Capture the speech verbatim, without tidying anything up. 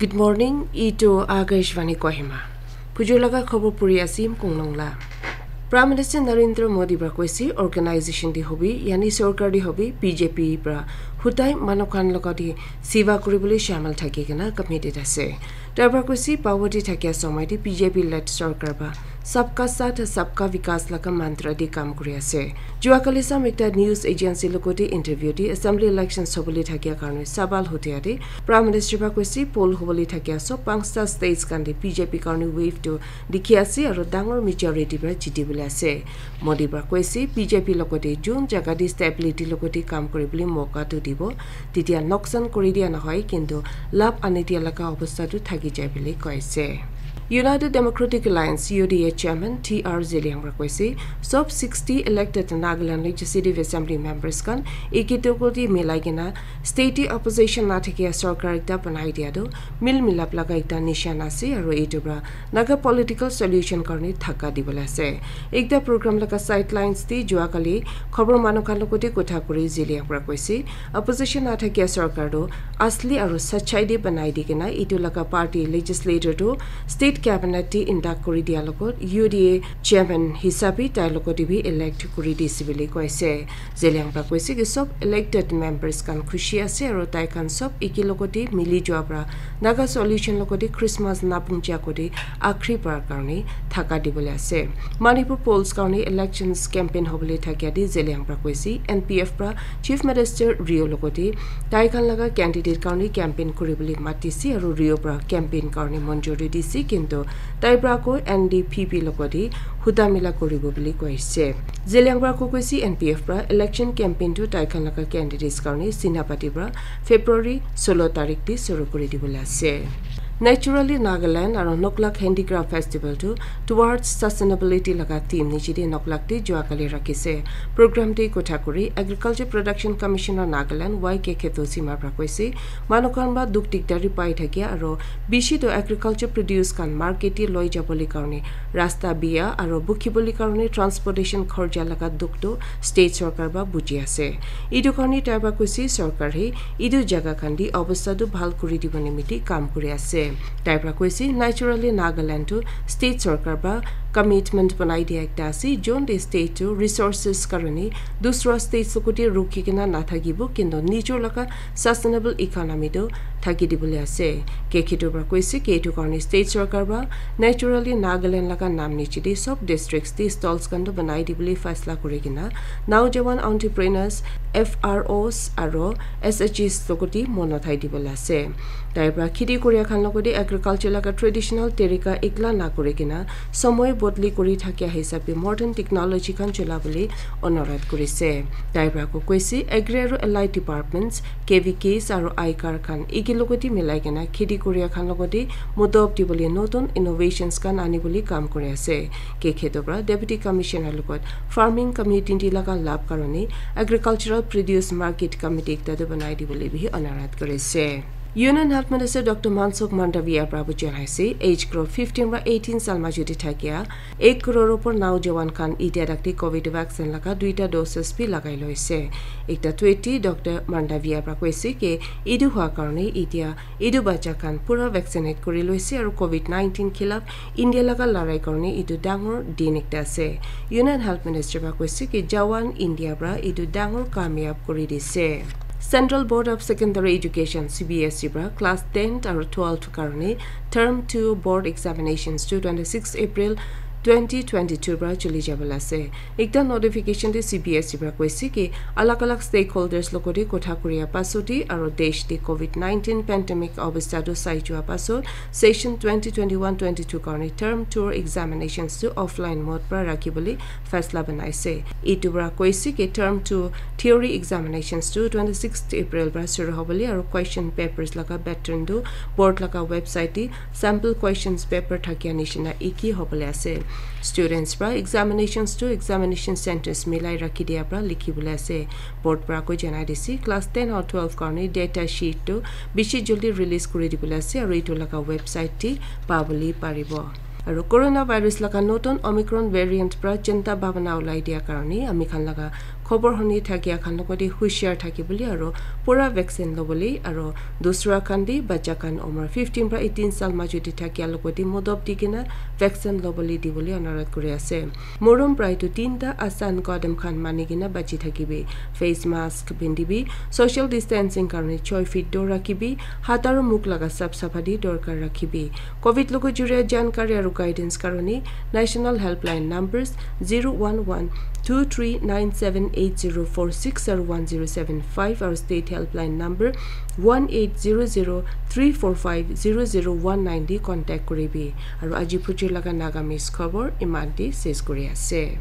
Good morning, itu Akashvani Kohima. Pujur laga khobor puri asim kunglong la. Prime Minister Narendra Modi pra koise organization di hobi, yani sorkar di hobi, B J P pra hutai manu khan logot di siva kuribole shamil thaki kena committed ase. Tai pra koise power di thakia somoi di B J P led sorkar pra Sabka Saath, Sabka Vikas laga mantra di kam kuri ase. Jua kali sam ekta news agency logot di interview di assembly election sobole thakia karne sabal hutia di Prime Minister pra koise poll hobole thakia sob panchta states khan di B J P karne wave tu dikhi ase aro dangor majority pra jiti bole ase. Modi pra koise B J P logot di jun jaga di stability logot di kam kuribole moka tu dibo, titia noksan kuri dia nohoi, kintu lab ani dia laga obostha tu thaki jai bole koise. United Democratic Alliance, U D A Chairman T R Zeliang pra koise, sob sixty elected Nagaland Legislative Assembly members khan eki tokol di milai kena state di opposition na thakia sorkar ekta banai dia tu mil milap laga ekta nishan ase aro etu pra Naga political solution karne thaka dibole ase. Ekta program laga sidelines di jua kali khobor manu khan logot di kotha kuri Zeliang pra koise, opposition na thakia sorkar tu asli aro sachai di banai di kena etu laga party legislator tu state cabinet di induct kuri dia logot U D A chairman hisabi tai logot di bi elect kuri dise bole koise. Zeliang pra koise ki sob elected members khan khushi ase aro tai khan sob eki logot di mili jua pra Naga solution logot di Christmas na punja kuri akhri bar karne thaka dibole ase. Manipur polls karne elections campaign hobole thakia di Zeliang pra koise N P F pra Chief Minister Rio logot di tai khan laga candidate karne campaign kuribole matise aro Rio pra campaign karne monjuri dise, kintu tai pra ko N D P P logot di huta mila kuribo bole koise. Zeliang pra ko koise N P F pra election campaign tu tai khan laga candidates karne Senapati pra February solo tarik di suru kuri dibole ase. Naturally Nagaland aro Noklak Handicraft Festival tu Towards Sustainability laga theme niche di Noklak di jua kali rakhise. Program di kotha kuri Agriculture Production Commissioner Nagaland Y K Kheto Sima pra koise, manu khan pra dukh dikdari pai thakia aro bishi tu agriculture produce khan market di loi jabole karne rasta biya aro bukhibole karne transportation khorja laga dukh tu state sorkar pra buji ase. Etu karne tai pra koise sorkar he etu jaga khan di obostha tu bhal kuri dibo nimite kam kuri ase. Tai pra koise naturally Nagaland tu state sorkar pra commitment banai dia ekta ase, jon de state tu resources karne dusra states logot di rukhi kena na thakibo, kintu nijor laga sustainable economy tu thaki dibole ase. K K two pra koise ki etu karne state sorkar pra naturally Nagaland laga nam niche di sob districts di stalls khan tu banai dibole faisla kuri kena Naujawan Entrepreneurs, F R Os aro S H Gs logot di mon uthai dibole ase. Tai pra kheti kuria khan logot di agriculture laga traditional tarika ekla na kuri kena somoi bodli kuri thakia hisab di modern technology khan chola bole onurodh kurise. Tai pra ko koise agri aro allied departments, K V Ks aro aikar khan eki logot di milai kena kheti kuria khan logot di mudop dibole notun innovations khan ani bole kam kuri ase. K K two pra Deputy Commissioner logot farming community laga lab karne agricultural produce market committee ekta tu banai dibole bi onurodh kurise. Union Health Minister Doctor Mansukh Mandaviya pra bu janai ase, age group fifteen pra eighteen sal majo di thakia ek crore upor naujawan khan itia tak di covid vaccine laga duita doses bi lagai loise. Ekta tweet di Doctor Mandaviya pra koise ki etu hua karne itia etu bacha khan pura vaccinate kuri loise aro covid nineteen khilaf India laga larai karne etu dangor din ekta ase. Union Health Minister pra koise ki Jawan India pra etu dangor kamyab kuri dise. Central Board of Secondary Education, C B S E pra class ten aro twelve karne term two board examinations tu twenty six April twenty twenty two pra chuli jabole ase. Ekta notification te C B S E pra koise ki alag alag stakeholders logot di kotha kuria pasot di aro desh di covid nineteen pandemic obostha tu sai jua pasot session twenty twenty one twenty two karne term two examinations tu offline mode pra rakhi bole faisla banai ase. Etu pra koise ki term two theory examinations tu twenty six April pra shuru hobole aro question papers laga pattern tu board laga website te sample questions paper thakia nishina eki hobole ase. Students pra examinations tu examination centers milai rakhi dia pra likhi bole ase. Board pra ko janai dise class ten aro twelve karne data sheet tu bishi jaldi release kuri dibole ase aro etu laga website te pabole paribo. Aro coronavirus laga notun Omicron variant pra chinta bhabana ulai dia karne ami khan laga khobor huni thakia khan logote hushar thaki bole aro pura vaccine lobole aro dusra khan bi bacha khan umar fifteen pra eighteen sal majo te thakia logote modop di kena vaccine lobole dibole anurodh kuri ase. Morom prai tu tinta asan kadam khan mani kena bachi thakibi. Face mask pindibi, social distancing karone choi feet dur rakhibi, hat aro mukh laga sap saphati dorkar rakhibi. Covid logo juria jankari aro guidance karone national helpline numbers zero one one two three nine seven eight zero four six aro one zero seven five aro state helpline number one eight zero zero three four five zero zero one nine di contact kuribi. Aro aji phujir laga Nagamese khobor iman di ses kuri ase.